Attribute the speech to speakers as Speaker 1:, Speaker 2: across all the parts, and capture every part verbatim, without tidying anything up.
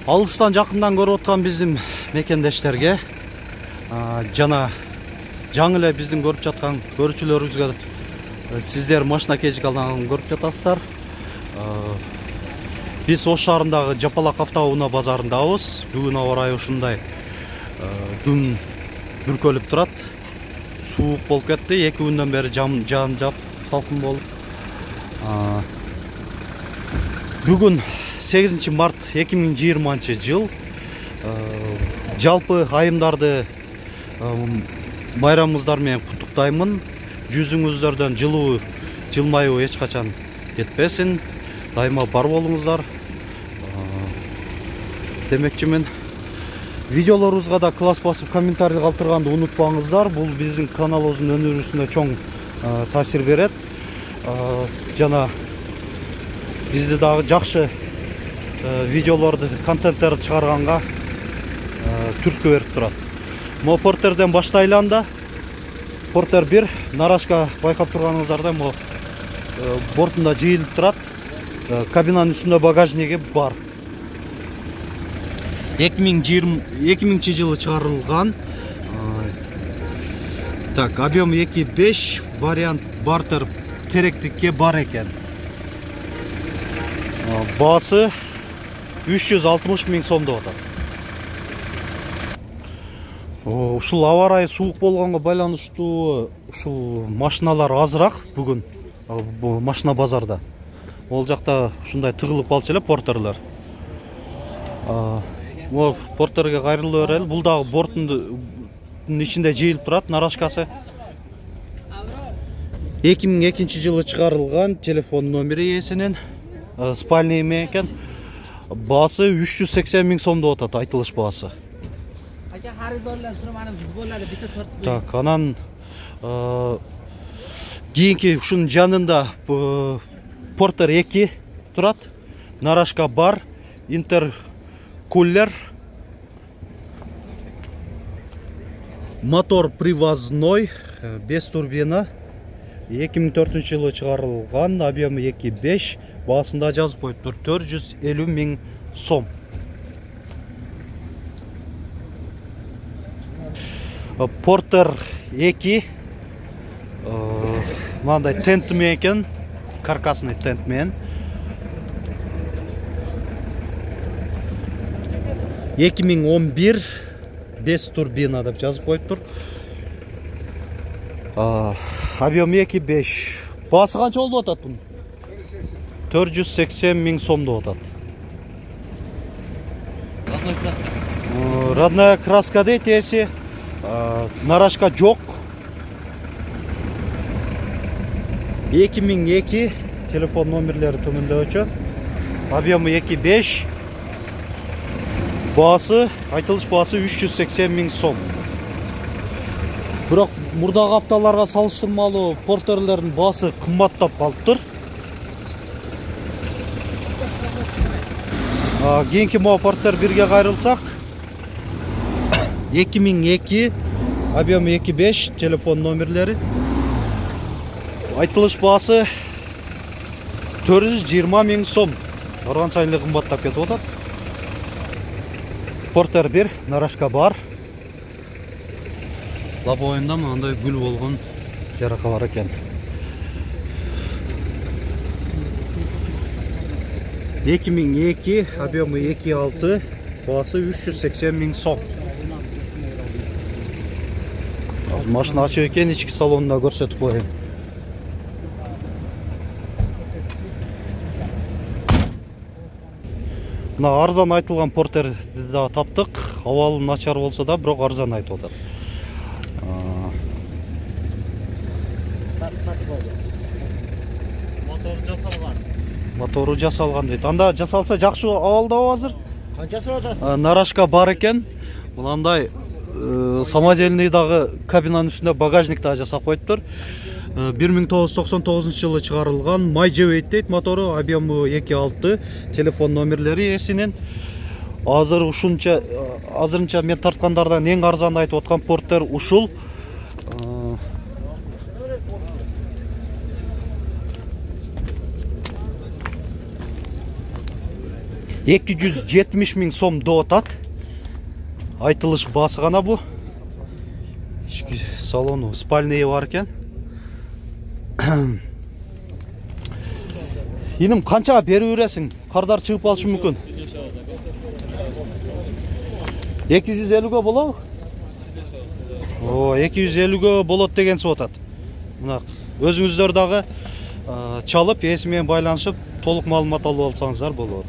Speaker 1: Алыстан жакындан көрүп аткан биздин мекендештерге жана жаңы эле биздин көрүп жаткан көрүүчүлөрүбүзгө сиздер машина кечик алдан көрүп жатасыздар. Биз Ош шаарындагы Жапалак автоунаа базарындабыз. Бүгүн аба ырайы ушундай. Күн бүркөлүп турат. Суук болуп кетти. эки күндөн бери жам жаан жап салкын болуп. Бүгүн сегизинчи март эки миң жыйырманчы жыл. Жалпы айымдарды байрамыңыздар менен куттуктаймын. Жүзүңүздөрдөн жылуу, жылмаюу эч качан кетпесин. Дайыма бар болуңуздар. Демекчимин, видеолорубузга да класс басып комментарий калтырганды унутпаңыздар. Бул биздин каналыбыздын өнүгүүсүнө чоң таасир берет. Жана бизди дагы жакшы видеолорду, контенттерди чыгарганга түрткү берип турат. Мо портерден баштайлы анда. Портер бир, нарашка байкап турганыңыздарда мо бортунда жыйылып турат. Кабинанын үстүндө багажниги бар. эки миңинчи жылы чыгарылган. Так, объем эки беш, вариант бартер теректикке бар экен. Баасы үч жүз алтымыш миң сом деп атат. Ушул аба ырайы суук болгонго байланыштуу ушул машиналар азыраак бүгүн машина базарда. Ол жакта ушундай тыгылып калчу эле портерлер. Мо портерге кайрылып берели. Бул дагы борттун ичинде жыйылып турат, нарашкасы. эки миң экинчи жылы чыгарылган, телефон номери ээсинин, спальный экен. Баасы үч жүз сексен миң сом деп атат, айтылыш баасы. Так, анан кийинки ушунун жанында портер эки турат, нарашка бар, интеркулер, мотор привозной, беш турбина, эки миң төртүнчү жылы чыгарылган, объемы эки беш, баасында жазып коюптур төрт жүз элүү миң сом. Портер эки мындай тент менен экен, каркасный тент менен. эки миң он бир, беш турбина деп жазып коюптур. Объем эки беш. Баасы канча болду атат бунун? төрт жүз сексен миң сом деп атат. Родной краска. Родная краска дейт ээси. Нарашка жок. эки миң эки, телефон номерлери төмөндөгүчө. Объемы эки беш. Баасы, айтылыш баасы үч жүз сексен миң сом. Бирок мурдагы апталарга салыштырмалуу портерлердин баасы кымбаттап калыптыр. Кийинки мо портер бирге кайрылсак, эки миң эки, объемы эки беш, телефон номерлери. Айтылыш баасы төрт жүз жыйырма миң сом. Барган сайын эле кымбаттап кетип атат. Портер бир, нарашка бар. Лобоюнда мындай гүл болгон жарака бар экен. эки миң эки, объемы эки алты, баасы үч жүз сексен миң сом. Машина ачык экен, ички салонунда көрсөтүп коеюн. Мына арзан айтылган портерди да таптык. Абалы начар болсо да, бирок арзан айтып атат. Мотору жасалган. Мотору жасалган дейт. Анда жасалса жакшы абалдабы азыр? Канчасы атасың? Нарашка бар экен. Мындай самодельный дагы кабинанын үстүндө багажник да жасап коюптур. бир миң тогуз жүз токсон тогузунчу жылы чыгарылган, Майжевейт дейт мотору, объемы эки алты, телефон номерлери ээсинин. Азыр ушунча азырынча мен тарткандардан эң арзан айтып аткан портер ушул. эки жүз жетимиш миң сом деп атат. Айтылыш басы гана бу. Ички салону спальный бар экен. Иним канчага берип бересиң? Кардар чыгып калышы мүмкүн. эки жүз элүүгө болобу? О, эки жүз элүүгө болот деген сөз атат. Мына өзүңүздөр дагы чалып, ээси менен байланышып, толук маалымат алып алсаңыздар болот.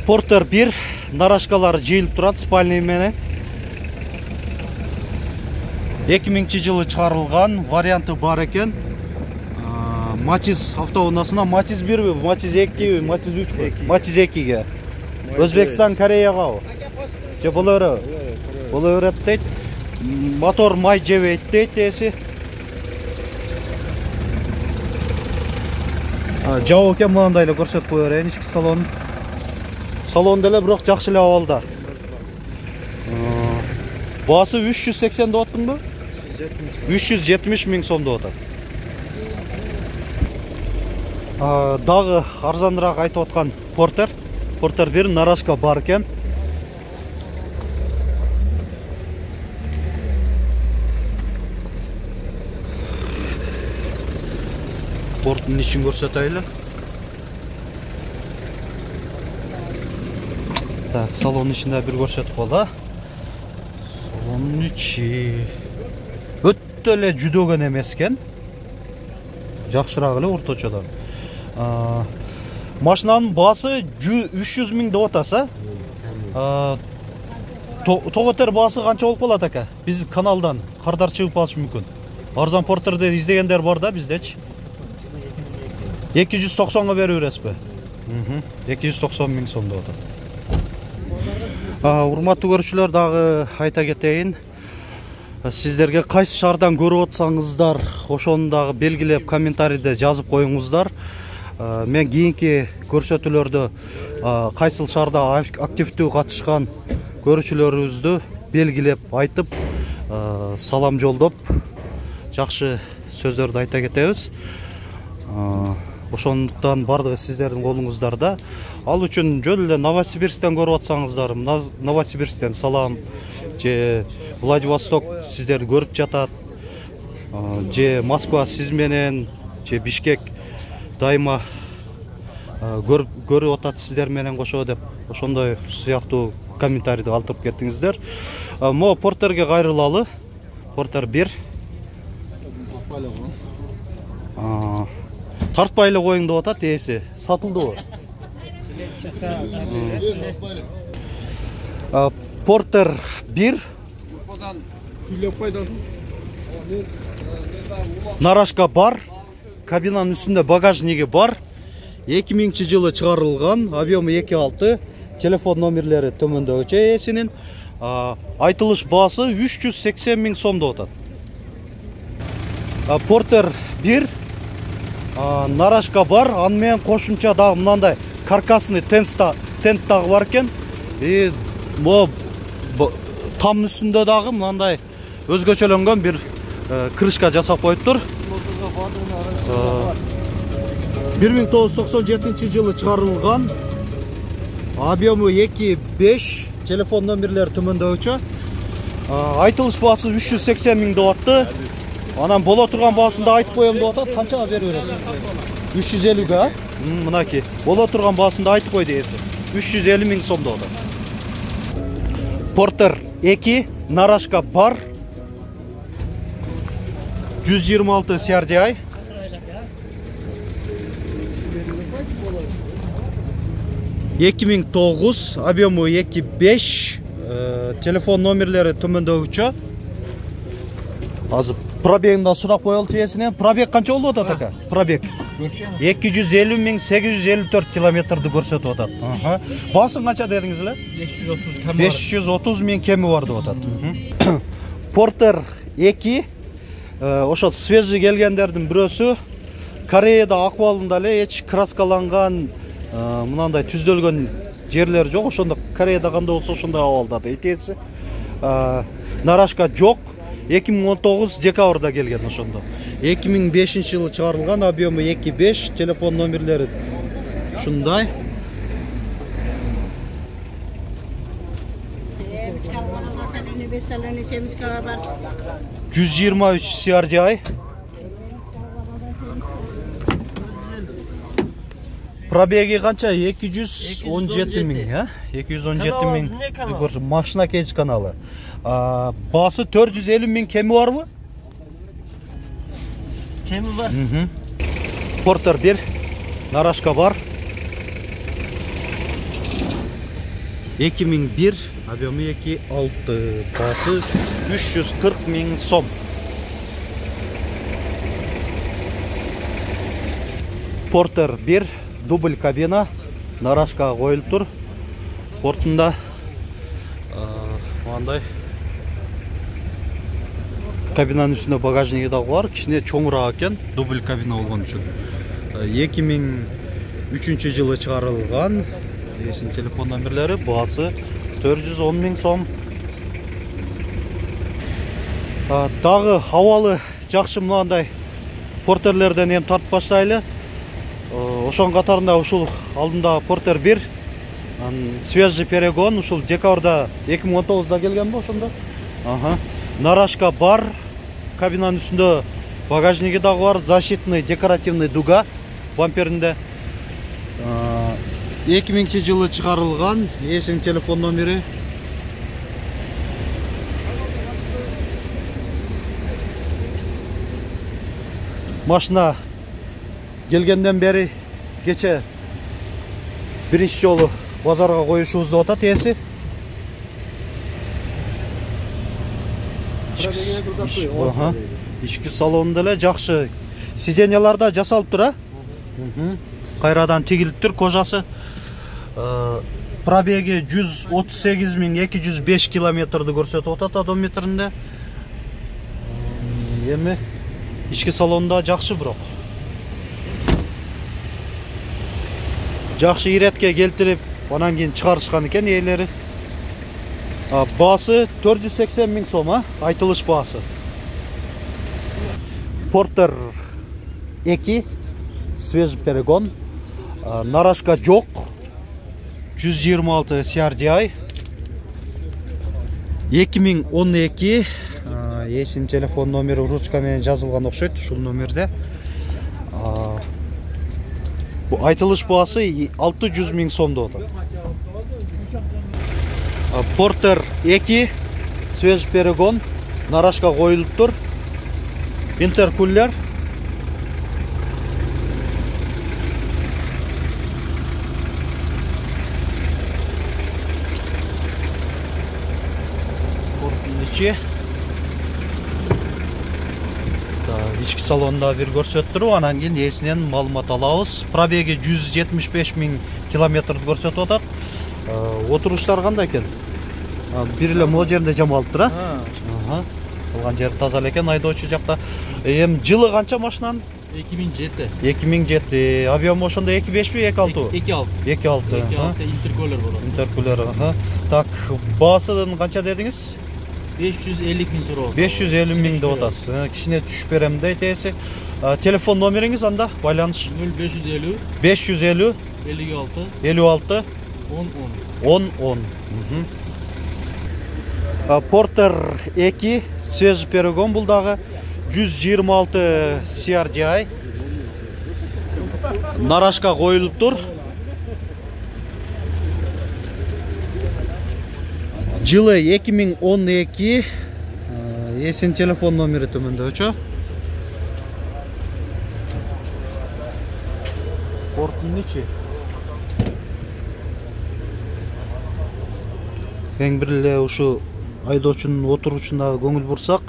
Speaker 1: Портер бир нарашкалар жыйылып турат спальный менен. эки миңинчи жылы чыгарылган, варианты бар экен. Матиз автоунаасына Матиз бирби, Матиз экиби, Матиз үчбү? Матиз экиге. Өзбекстан, Кореягабы? Же боло береби? Боло берет дейт. Мотор май жебейт дейт ээси. Жабык экен, мындай эле көрсөтүп кое берейин ички салонун. Салон деле бирок жакшы эле абалда. Баасы үч жүз сексен деп аттыңбы? үч жүз жетимиш миң сом деп атат. Дагы арзаныраак айтып аткан Портер. Портер бир нарашка бар экен. Порттун ичин көрсөтөйлү. Так, салонун ичинде бир көрсөтүп кала. Салонун ичи өтө эле жүдөгөн эмес экен. Жакшыраак эле орточодон. Машинанын баасы үч жүз миң деп атаса. Тоготер баасы канча болуп калат ака? Биз каналдан кардар чыгып калышы мүмкүн. Арзан Портерди издегендер бар да биздечи. эки жүз токсонго берип бересизби? эки жүз токсон миң сом деп атат. Урматтуу көрүүчүлөр, дагы айта кетейин. Сиздерге кайсы шаардан көрүп атсаңыздар, ошону дагы белгилеп комментарийде жазып коюңуздар. Мен кийинки көрсөтүүлөрдө кайсыл шаарда активдүү катышкан көрүүчүлөрүбүздү белгилеп айтып, салам жолдоп, жакшы сөздөрдү айта кетебиз. Ошондуктан бардыгы сиздердин колуңуздарда. Ал үчүн жөн эле Новосибирсктен көрүп атсаңыздар, Новосибирсктен салам, же Владивосток сиздерди көрүп жатат, же Москва сиз менен, же Бишкек дайыма көрүп атат сиздер менен кошо деп, ошондой сыяктуу комментарийди калтырып кеттиңиздер. Мо Портерге кайрылалы. Портер бир. Тартпай эле коюң деп атат ээси. Сатылдыбы? Портер бир. Нарашка бар. Кабинанын үстүндө багажниги бар. эки миңинчи жылы чыгарылган, объему эки алты. Телефон номерлери төмөндөгүчө ээсинин. Айтылыш баасы үч жүз сексен миң сом деп атат. Портер бир. Нарашка бар, аны менен кошумча дагы мындай каркасный тент дагы бар экен. И мо там үстүндө дагы мындай өзгөчөлөнгөн бир крышка жасап коюптур. бир миң тогуз жүз токсон жетинчи жылы чыгарылган, объему эки беш, телефон номерлери төмөндөгүчө. Айтылыш баасы үч жүз сексен миң деп атты. Анан боло турган баасын да айтып коем деп атат. Канчага берип бересиң? үч жүз элүүгө. Мынакей. Боло турган баасын да айтып кой дейсиң. үч жүз элүү миң сом деп атат. Портер эки, нарашка бар. жүз жыйырма алты си ар ди ай. эки миң тогуз, объему эки беш, телефон номерлери төмөндөгүчө. Азыр пробегинде сурап коелучу ээсинен. Пробег канча болуп атат ака? Пробег эки жүз элүү миң сегиз жүз элүү төрт километрди көрсөтүп атат. Баасын канча дедиңиз эле? беш жүз отуз миң кеми бар деп атат. Портер эки, ошо свежий келгендердин бирөөсү. Кореяда акыбалында эле эч краскаланган, мынандай түздөлгөн жерлер жок. Ошондо Кореяда кандай болсо ошондой абалда дейт ээси. Нарашка жок. эки миң он тогуз декабрда келген ошондо. эки миң бешинчи жылы чыгарылган, объему эки беш, телефон номерлери ушундай. жүз жыйырма үч си ар ди ай. Пробеги канча? эки жүз он жети миң, а? эки жүз он жети миң. Машина кеч каналы. Басы төрт жүз элүү миң, кеми барбы?
Speaker 2: Кеми бар.
Speaker 1: Портер бир, нарашка бар. эки миң бир, объемы эки алты, басы үч жүз кырк миң сом. Портер бир, дубль кабина, нарашка коюлуп тур. Портунда мындай кабинанын үстүндө багажниги да бар, кичине чоңураак экен, дубль кабина болгон үчүн. эки миң үчүнчү жылы чыгарылган. Эсин телефон номерлери, баасы төрт жүз он миң сом. Дагы абалы жакшы мындай портерлерден эми тартып баштайлы. Ошонун катарында ушул алдында Портер бир, свежий перегон, ушул декабрда эки миң он тогузда келген бо ошондо. Ага. Нарашка бар, кабинанын үстүндө багажниги дагы бар, защитный декоративный дуга бамперинде. эки миңинчи жылы чыгарылган, эсин телефон номери. Машина келгенден бери кече биринчи жолу базарга коюшубузду атат эси. Ички салонунда эле жакшы сиденьяларда жасалып тур, а? Кайрадан тигилиптир кожасы. Пробеги жүз отуз сегиз миң эки жүз беш километрди көрсөтүп атат одометринде. Эми ички салонунда жакшы бирок. Жакшы иретке келтирип, анан кийин чыгарышкан экен ээлери. Баасы төрт жүз сексен миң сом, а? Айтылыш баасы. Портер эки, свежий перегон. Нарашка жок, жүз жыйырма алты си ар ди ай. эки миң он эки, эсин телефон номери ручка менен жазылган окшойт, ушул номерде. Айтылыш баасы алты жүз миң сом деп атат. Портер эки, свежий перегон, нарашка коюлуп тур. Интеркулер. Ички салонда бир көрсөтүп туруп, анан кийин эсинен маалымат алабыз. Пробеги жүз жетимиш беш миң километрди көрсөтүп атат. Отуруштар кандай экен? Бир эле могу жеринде жамалып тур, а? Калган жери таза экен, айдоочу жакта. Эми жылы канча машинанын?
Speaker 3: эки миң жети.
Speaker 1: эки миң жети. Объем ошондо эки бешпи, эки алтыбы?
Speaker 3: эки алты.
Speaker 1: эки алты.
Speaker 3: эки алты интеркулер болот.
Speaker 1: Интеркулер, ага. Так, баасын канча дедиңиз?
Speaker 3: беш жүз элүү миң суроо.
Speaker 1: беш жүз элүү миң деп атасыз. Кичине түшүп берем дейт эси. Телефон номериңиз анда байланыш?
Speaker 3: нөл беш жүз элүү
Speaker 1: беш жүз элүү
Speaker 3: элүү алты
Speaker 1: элүү алты
Speaker 3: он он.
Speaker 1: он он. Портер эки, свежий перегон бул дагы жүз жыйырма алты си ар ди ай. Нарашка коюлуп тур. Жылы эки миң он эки. Эсин телефон номери төмөндө. Портун ичи. Эң бир эле ушу айдоочунун отуручуна көңүл бурсак,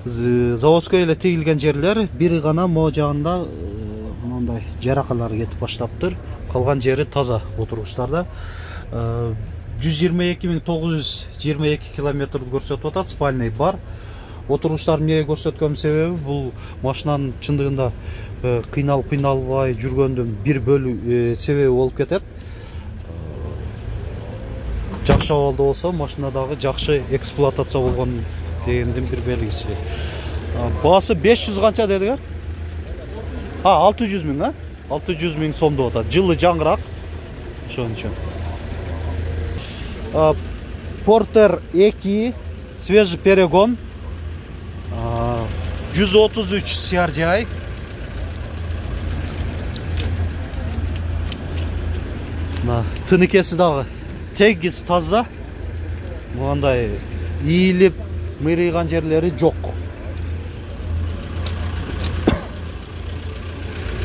Speaker 1: заводской эле тигилген жерлер бир гана могу жагында мындай жаракалар кетип баштаптыр. Калган жери таза отургучтарда. жүз жыйырма эки миң тогуз жүз жыйырма эки километрди көрсөтүп атат, спальный бар. Отургучтар эмнеге көрсөткөнүн себеби бул машинанын чындыгында кыйналып кыйналбай жүргөндүн бир бөлү себеби болуп кетет. Жакшы абалда болсо машинадагы жакшы эксплуатация болгон дегендин бир белгиси. Баасы беш жүз канча дедиңер? А, алты жүз миң, а? алты жүз миң сом деп атат. Жылы жаңыраак. Ошон үчүн. Портер эки свежий перегон. жүз отуз үч си ар джи ай. Тыныкеси дагы тегиз таза. Мындай ийилип, мырыйган жерлери жок.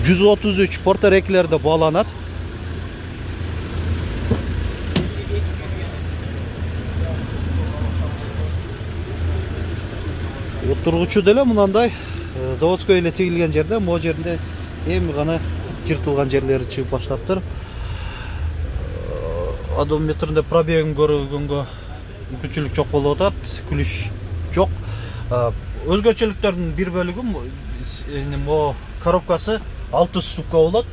Speaker 1: жүз отуз үч портер экилерде бааланат. Отургучу деле мындай заводской эле тигилген жерде, могу жеринде эми гана жыртылган жерлери чыгып баштаптыр. Одометринде пробегин көргөнгө мүмкүнчүлүк жок болуп атат, күлүш жок. Өзгөчөлүктөрдүн бир бөлүгү могу коробкасы алты ступка болот.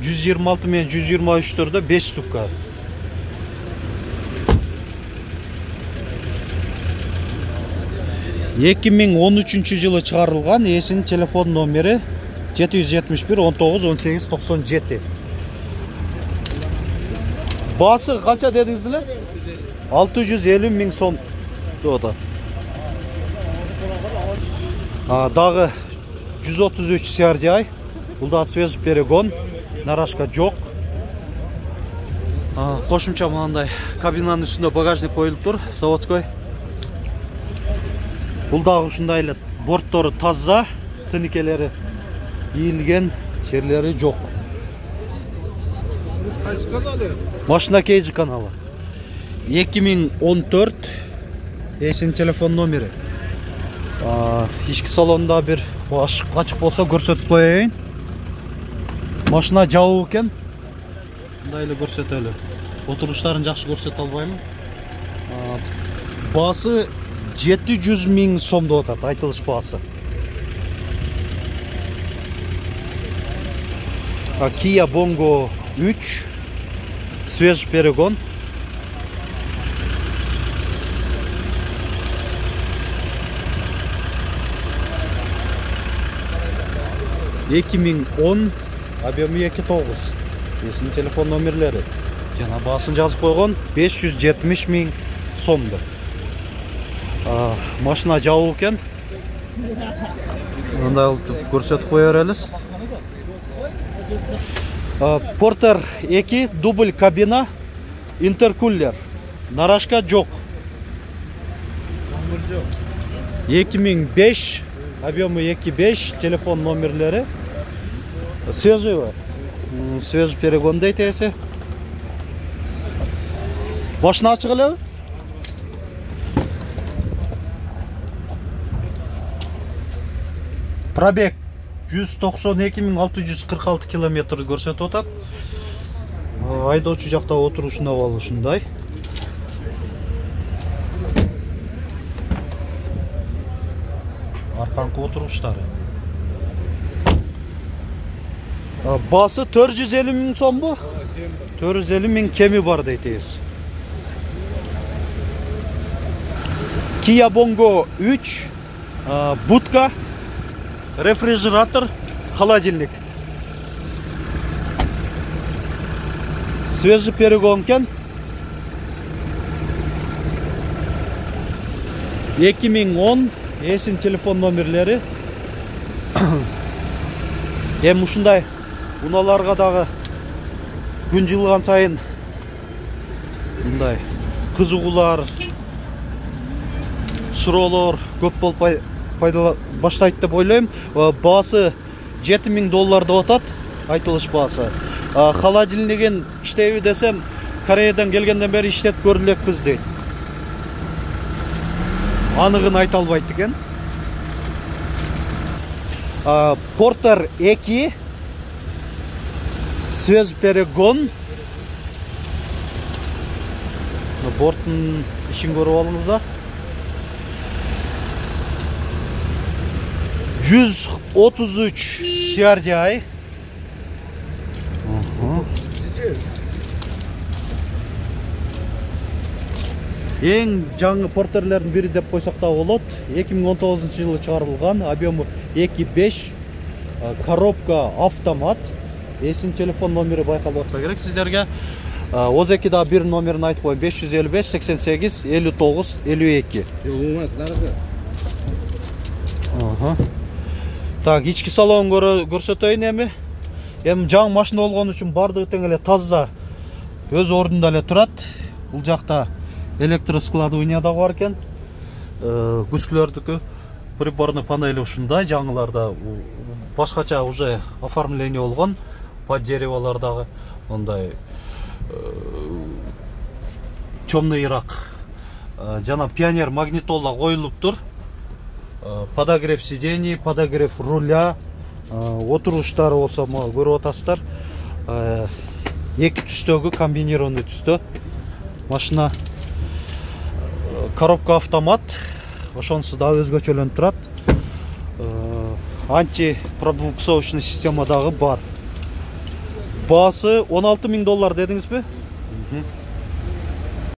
Speaker 1: жүз жыйырма алты менен жүз жыйырма үчтөрдө беш ступка. эки миң он үчүнчү жылы чыгарылган, ээсинин телефон номери жети жүз жетимиш бир он тогуз он сегиз токсон жети. Баасы канча дедиңиз эле? алты жүз элүү миң сом деп атат. Дагы жүз отуз үч си ар джи ай. Бул да свежий перегон, нарашка жок. Кошумча мындай кабинанын үстүндө багажник коюлуп тур, заводской. Бул дагы ушундай эле борттору таза, тыныкелери ийилген, жерлери жок.
Speaker 2: Кайсы каналы?
Speaker 1: Машина кейжи каналы. эки миң он төрт ээсинин телефон номери. Ички салонда бир ашык ачык болсо көрсөтүп коеюн. Машина жабык экен. Мындай эле көрсөтөлү. Отуруштарын жакшы көрсөтө албаймын. Баасы жети жүз миң сом деп атат, айтылыш баасы. Kia Bongo үч свежий перегон. эки миң он, объемы эки тогуз. Ээсинин телефон номерлери. Жана баасын жазып койгон беш жүз жетимиш миң сомду. Машина жабык экен. Мындай көрсөтүп кое берелиз. Портер эки дубль кабина, интеркулер. Нарашка жок. эки миң беш, объемы эки беш, телефон номерлери. Свежий бар. Свежий перегон дейт ээси. Башына ачык элеби? Пробег жүз токсон эки миң алты жүз кырк алты километр көрсөтүп атат. Айдоочу жакта отурушунда бол ушундай. Арканкы отуруштары. Баасы төрт жүз элүү миң сомбу? төрт жүз элүү миң кеми бар дейт ээси. Kia Bongo үч, будка, рефрижератор, холодильник. Свежий перегон кен. эки миң он, ээсинин телефон номерлери. Эми ушундай унааларга дагы күн жылган сайын мындай кызыгуулар, суроолор көп болуп пайдала баштайт деп ойлойм. Баасы жети миң доллар деп атат, айтылыш баасы. Холодильнигин иштейби десем, Кореядан келгенден бери иштетип көрүп элекпиз дейт. Анығын айта албайт экен. Портер эки свежий перегон. Борттун ишин көрүп алыңыздар. жүз отуз үч си ар джи ай. Эң жаңы портерлердин бири деп койсок да болот. эки миң он тогузунчу жылы чыгарылган, объему эки беш, коробка автомат. эсин телефон номери байкалып атса керек сиздерге. Озеки да бир номерин айтып коеюн: беш жүз элүү беш сексен сегиз элүү тогуз элүү эки. Ага. Так, ички салонун көрсөтөйүн эми. Эми жаңы машина болгон үчүн бардыгы тең эле таза, өз ордунда эле турат. Бул жакта электроскладывание да бар экен. Күчкүлөрдүкү приборный панели ушундай, жаңыларда башкача уже оформление болгон. Под дереволардагы мондай темныйраак жана пионер магнитола коюлуптур. Подогрев сидений, подогрев руля, отуруштары болсо көрүп атасыздар. Эки түстөгү комбинированный түстө машина. Коробка автомат, ошонусу да өзгөчөлөнүп турат. Антипробуксовочный система дагы бар. Баасы он алты миң доллар дедиңизби?